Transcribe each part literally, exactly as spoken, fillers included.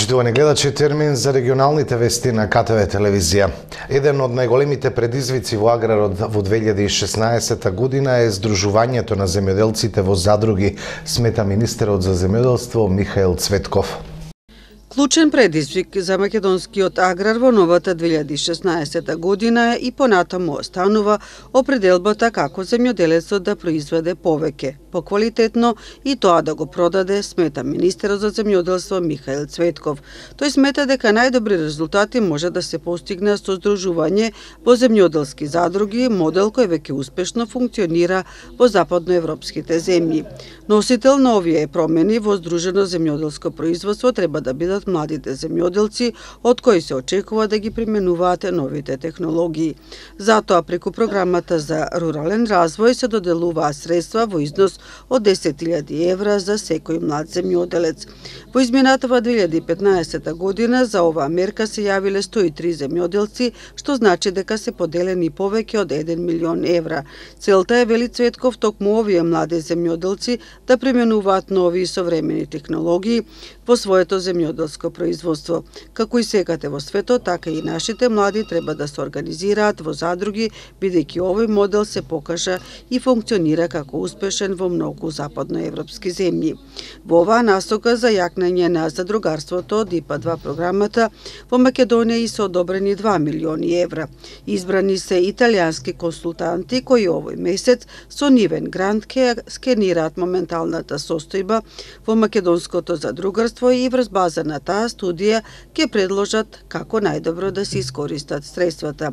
Поштувани гледачи, термин за регионалните вести на К Т В телевизија. Еден од најголемите предизвици во аграрот во две илјади и шеснаесетта година е здружувањето на земјоделците во задруги, смета министерот за земјоделство Михаил Цветков. Клучен предизвик за македонскиот аграр во новата две илјади и шеснаесетта година и понатаму останува определбата како земјоделецот да произведе повеќе, поквалитетно и тоа да го продаде, смета министерот за земјоделство Михаил Цветков. Тој смета дека најдобри резултати може да се постигне со здружување во земјоделски задруги, модел кој веќе успешно функционира во западноевропските земји. Носител на овие промени во здружено земјоделско производство треба да бидат младите земјоделци, од кои се очекува да ги применуваат новите технологии. Затоа преку програмата за рурален развој се доделуваат средства во износ од десет илјади евра за секој млад земјоделец. Во изминатава две илјади и петнаесетта година за оваа мерка се јавиле сто и три земјоделци, што значи дека се поделени повеќе од еден милион евра. Целта е, вели Цветков, токму овие млади земјоделци да применуваат нови и современи технологии во своето земјоделско производство. Како и секаде во светот, така и нашите млади треба да се организираат во задруги, бидејќи овој модел се покажа и функционира како успешен во многу западноевропски земји. Во оваа насока за јакнање на задругарството од И П А два програмата во Македонија и се одобрени два милиони евра. Избрани се италијански консултанти кои овој месец со нивен грант ќе скенираат моменталната состојба во македонското задругарство и врз база на таа студија ќе предложат како најдобро да се искористат средствата.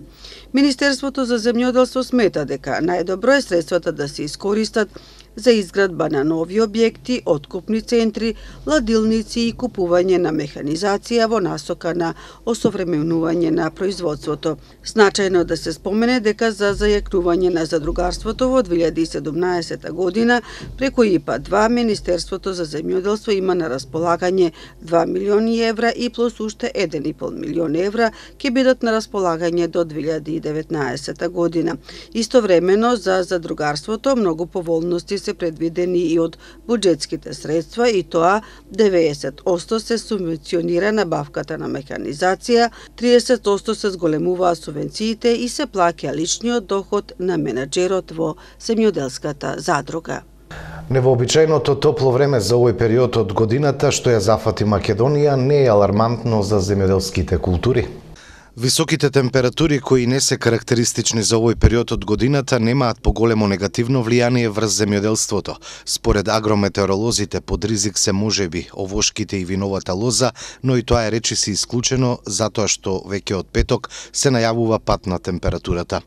Министерството за земјоделство смета дека најдобро е средствата да се искористат за изградба на нови објекти, откупни центри, ладилници и купување на механизација во насока на осовременување на производството. Значајно да се спомене дека за зајакнување на задругарството во две илјади и седумнаесетта година преку И П А два Министерството за земјоделство има на располагање два милиони евра и плюс уште еден и пол милион евра ќе бидат на располагање до две илјади и деветнаесетта година. Истовремено за задругарството многу поволности се предвидени и од буџетските средства и тоа деветдесет одсто се субвенционира набавката на механизација, триесет одсто се зголемуваат субвенциите и се плаќа личниот доход на менаџерот во земјоделската задруга. Невообичајното топло време за овој период од годината што ја зафати Македонија не е алармантно за земјоделските култури. Високите температури кои не се карактеристични за овој период од годината немаат поголемо негативно влијание врз земјоделството. Според агрометеоролозите под ризик се можеби овошките и виновата лоза, но и тоа е речиси исклучено затоа што веќе од петок се најавува пат на температурата.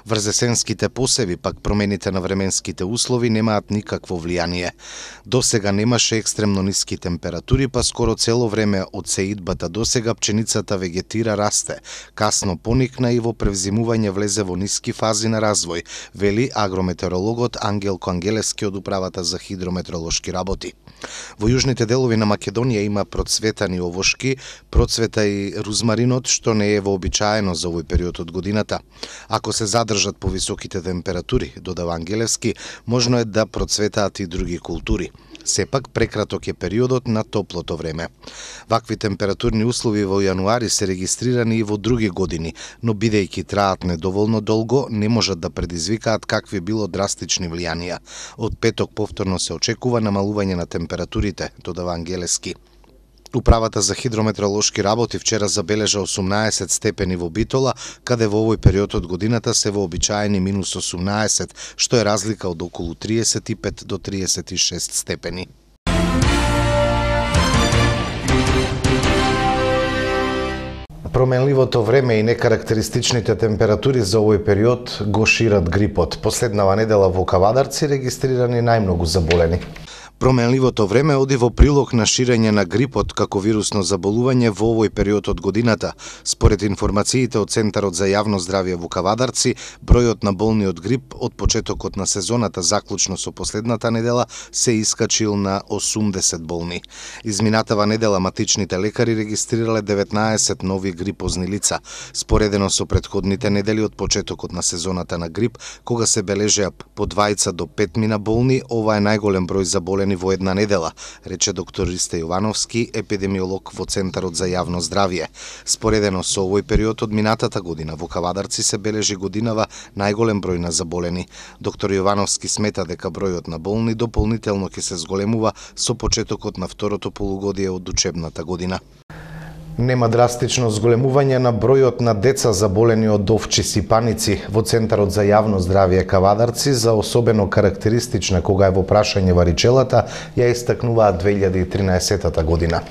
Врз есенските посеви пак промените на временските услови немаат никакво влијание. До сега немаше екстремно ниски температури, па скоро цело време од сеидбата до сега пченицата вегетира, расте. Касно поникна и во превзимување влезе во ниски фази на развој, вели агрометеорологот Ангелко Ангелески од Управата за хидрометеоролошки работи. Во јужните делови на Македонија има процветани овошки, процвета и рузмаринот, што не е вообичаено за овој период од годината. Ако се задржат повисоките температури, додава Ангелевски, можно е да процветаат и други култури. Сепак прекраток е периодот на топлото време. Вакви температурни услови во јануари се регистрирани и во други години, но бидејќи траат недоволно долго, не можат да предизвикаат какви било драстични влијанија. Од петок повторно се очекува намалување на температурите, додава Ангелески. Управата за хидрометеоролошки работи вчера забележа осумнаесет степени во Битола, каде во овој период од годината се вообичаени минус осумнаесет, што е разлика од околу триесет и пет до триесет и шест степени. Променливото време и некарактеристичните температури за овој период го шират грипот. Последнава недела во Кавадарци регистрирани најмногу заболени. Променливото време оди во прилог на ширење на грипот како вирусно заболување во овој период од годината. Според информациите од Центарот за јавно здравје во Кавадарци, бројот на болни од грип од почетокот на сезоната заклучно со последната недела се искачил на осумдесет болни. Изминатава недела матичните лекари регистрирале деветнаесет нови грипозни лица, споредено со претходните недели од почетокот на сезоната на грип, кога се бележеа по двајца до петмина болни. Ова е најголем број заболени заболени во една недела, рече доктор Ристе Јовановски, епидемиолог во Центарот за јавно здравје. Споредено со овој период од минатата година во Кавадарци се бележи годинава најголем број на заболени. Доктор Јовановски смета дека бројот на болни дополнително ќе се зголемува со почетокот на второто полугодие од учебната година. Нема драстично зголемување на бројот на деца заболени од овчи сипаници во Центарот за јавно здравје Кавадарци, за особено карактеристична кога е во прашање варичелата, ја истакнуваат две илјади и тринаесеттата година.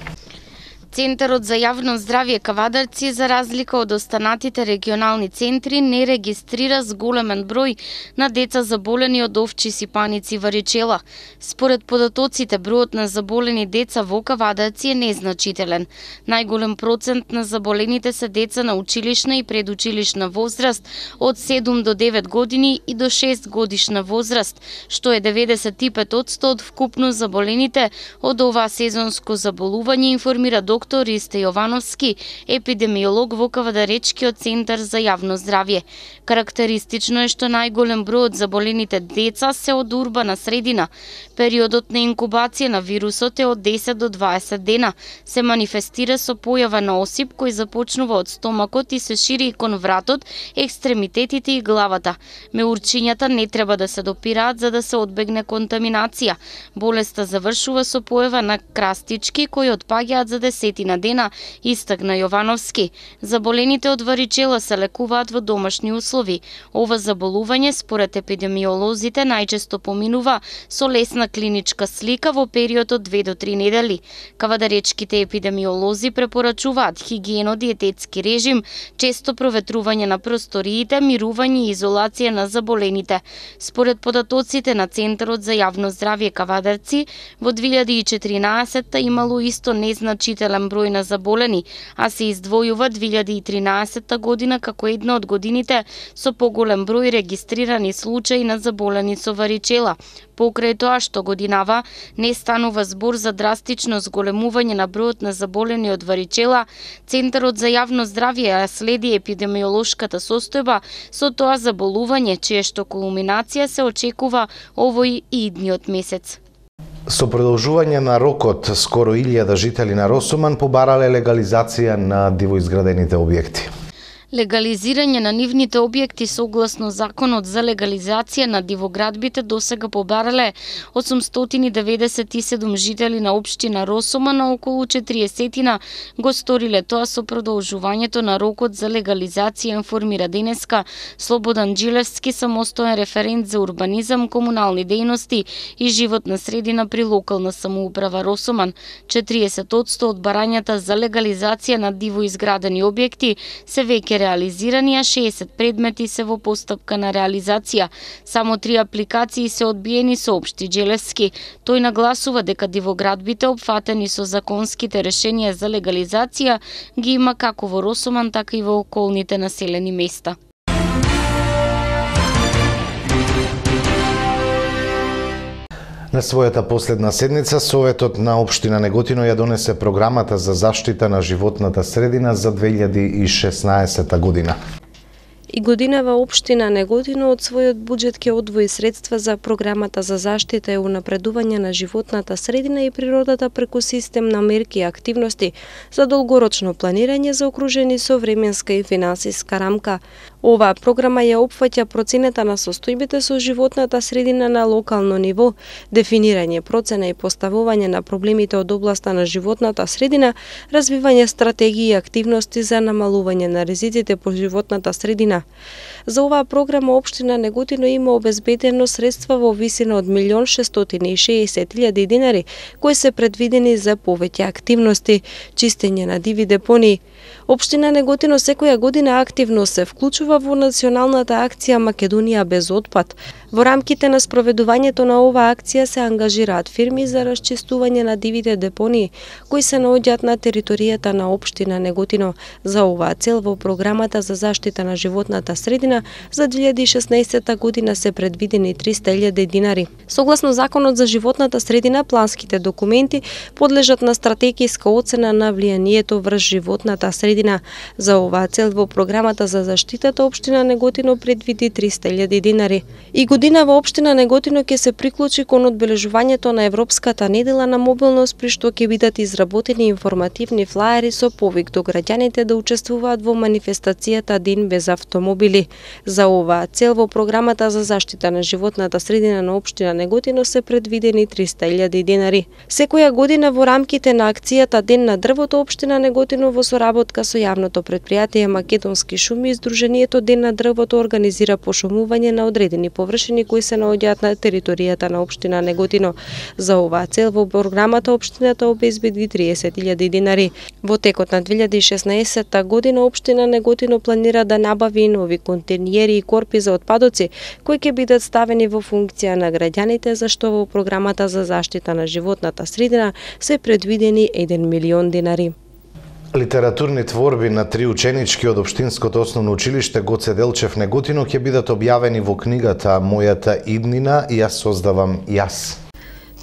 Центарот за јавно здравје Кавадарци, за разлика од останатите регионални центри, не регистрира зголемен број на деца заболени од овчи сипаници варичела. Според податоците, бројот на заболени деца во Кавадарци е незначителен. Најголем процент на заболените се деца на училишна и предучилишна возраст од седум до девет години и до шест годишна возраст, што е деветдесет и пет одсто од вкупно заболените од ова сезонско заболување, информира доктор доктор Ристе Јовановски, епидемиолог во Кавадаречкиот центар за јавно здравје. Карактеристично е што најголем број од заболените деца се од урбана средина. Периодот на инкубација на вирусот е од десет до дваесет дена. Се манифестира со појава на осип кој започнува од стомакот и се шири кон вратот, екстремитетите и главата. Меурчињата не треба да се допираат за да се одбегне контаминација. Болеста завршува со појава на крастички кои отпаѓаат за десетина дена, истакна Јовановски. Заболените од варичела се лекуваат во домашни услови. Ова заболување, според епидемиолозите, најчесто поминува со лесна клиничка слика во период од две до три недели. Кавадаречките епидемиолози препорачуваат хигиено-диететски режим, често проветрување на просториите, мирување и изолација на заболените. Според податоците на Центарот за јавно здравје Кавадарци, во две илјади и четиринаесетта имало исто незначителен број на заболени, а се издвојува две илјади и тринаесетта година како една од годините со поголем број регистрирани случаи на заболени со варичела. Покрај тоа што годинава не станува збор за драстично зголемување на бројот на заболени од варичела, Центарот за јавно здравје ја следи епидемиолошката состојба со тоа заболување, чија што кулминација се очекува овој и идниот месец. Со продолжување на рокот, скоро илјада жители на Росоман побарале легализација на дивоизградените објекти. Легализирање на нивните објекти согласно Законот за легализација на дивоградбите досега побарале осумстотини деведесет и седум жители на општина Росоман, а околу четириесетина го сториле тоа со продолжувањето на рокот за легализација, информира денеска Слободан Джилевски, самостоен референт за урбанизам, комунални дејности и животна средина при локална самоуправа Росоман. четириесет одсто од барањата за легализација на дивоизградени објекти се веќе реализирани, а шеесет предмети се во постапка на реализација. Само три апликации се одбиени, соопшти Джелевски. Тој нагласува дека дивоградбите опфатени со законските решенија за легализација ги има како во Росоман, така и во околните населени места. На својата последна седница, Советот на општина Неготино ја донесе програмата за заштита на животната средина за две илјади и шеснаесетта година. И годинава општина Неготино од својот буџет ќе одвои средства за програмата за заштита и унапредување на животната средина и природата преку систем на мерки и активности за долгорочно планирање заокружени со временска и финансиска рамка. Оваа програма ја опфаќа процената на состојбите со животната средина на локално ниво, дефинирање, процена и поставување на проблемите од областа на животната средина, развивање стратегии и активности за намалување на ризиците по животната средина. За оваа програма општина Неготино има обезбедено средства во висина од милион шестстотини и шеесет илјади динари, кои се предвидени за повеќе активности, чистење на диви депонии. Општина Неготино секоја година активно се вклучува во националната акција Македонија без отпад. Во рамките на спроведувањето на оваа акција се ангажираат фирми за расчистување на дивите депонии кои се наоѓаат на територијата на општина Неготино. За оваа цел во програмата за заштита на животната средина за две илјади и шеснаесетта година се предвидени триста илјади динари. Согласно Законот за животната средина, планските документи подлежат на стратегиска оцена на влијанието врз животната средина. За оваа цел во програмата за заштитата општина Неготино предвиди триста илјади динари. И годинава општина Неготино ќе се приклучи кон одбележувањето на Европската недела на мобилност, при што ќе бидат изработени информативни флаери со повик до граѓаните да учествуваат во манифестацијата Ден без автомобили. За оваа цел во програмата за заштита на животната средина на општина Неготино се предвидени триста илјади динари. Секоја година во рамките на акцијата Ден на дрвото, општина Неготино во соработка со јавното претпријатие Македонски шуми и Сдруженијето Ден на дрвото организира пошумување на одредени површини кои се наоѓаат на територијата на општина Неготино. За оваа цел во програмата општината обезбеди триесет илјади динари. Во текот на две илјади и шеснаесетта година општина Неготино планира да набави нови контейнери и корпи за отпадоци кои ќе бидат ставени во функција на граѓаните, за што во програмата за заштита на животната средина се предвидени еден милион динари. Литературни творби на три ученички од Општинското основно училиште Гоце Делчев Неготино ќе бидат објавени во книгата Мојата иднина ја создавам јас.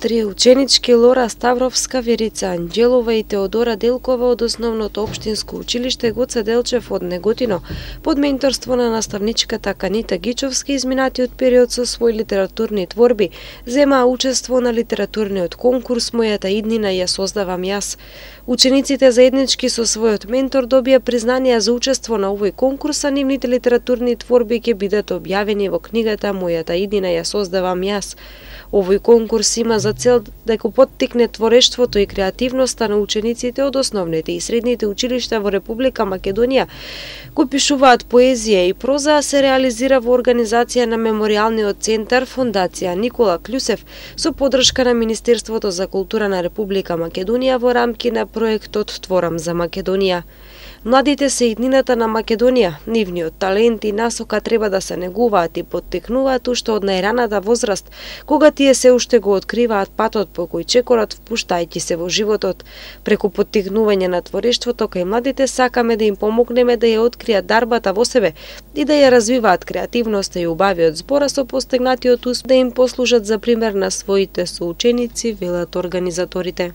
Три ученички Лора Ставровска, Верица Анđелова и Теодора Делкова од основното општинско училиште Гоце Делчев од Неготино, под менторство на наставничката Канита Гичовски, изминатиот период со своји литературни творби, земаа учество на литературниот конкурс Мојата иднина ја создавам јас. Учениците заеднички со својот ментор добија признанија за учество на овој конкурс, а нивните литературни творби ќе бидат објавени во книгата Мојата иднина ја создавам јас. Овој конкурс има за цел да го поттикне творештвото и креативноста на учениците од основните и средните училишта во Република Македонија, кои пишуваат поезија и проза, се реализира во организација на Меморијалниот центар Фондација Никола Клюсев со поддршка на Министерството за култура на Република Македонија во рамки на проектот Творам за Македонија. Младите се иднината на Македонија, нивниот талент и насока треба да се негуваат и поттикнуваат уште од најраната возраст, кога тие се уште го откриваат патот по кој чекорат, впуштајќи се во животот. Преку поттикнување на творештвото кај младите сакаме да им помогнеме да ја откријат дарбата во себе и да ја развиваат креативноста и убавиот збора со постигнатиот успех, да им послужат за пример на своите соученици, велат организаторите.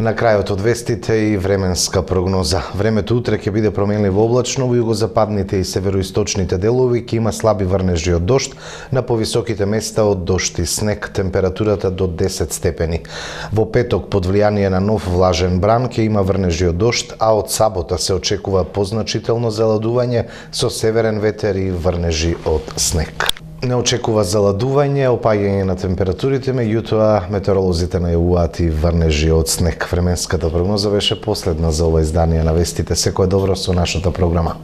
На крајот од вестите и временска прогноза. Времето утре ќе биде променливо облачно, во југозападните и североисточните делови ќе има слаби врнежи од дожд, на повисоките места од дожд и снег, температурата до десет степени. Во петок под влијание на нов влажен бран ќе има врнежи од дожд, а од сабота се очекува позначително заладување со северен ветер и врнежи од снег. Не очекува заладување, опаѓање на температурите, меѓутоа метеоролозите најавуваат и врнежи од снег. Временската прогноза беше последна за ова издание на вестите. Секое добро со нашата програма.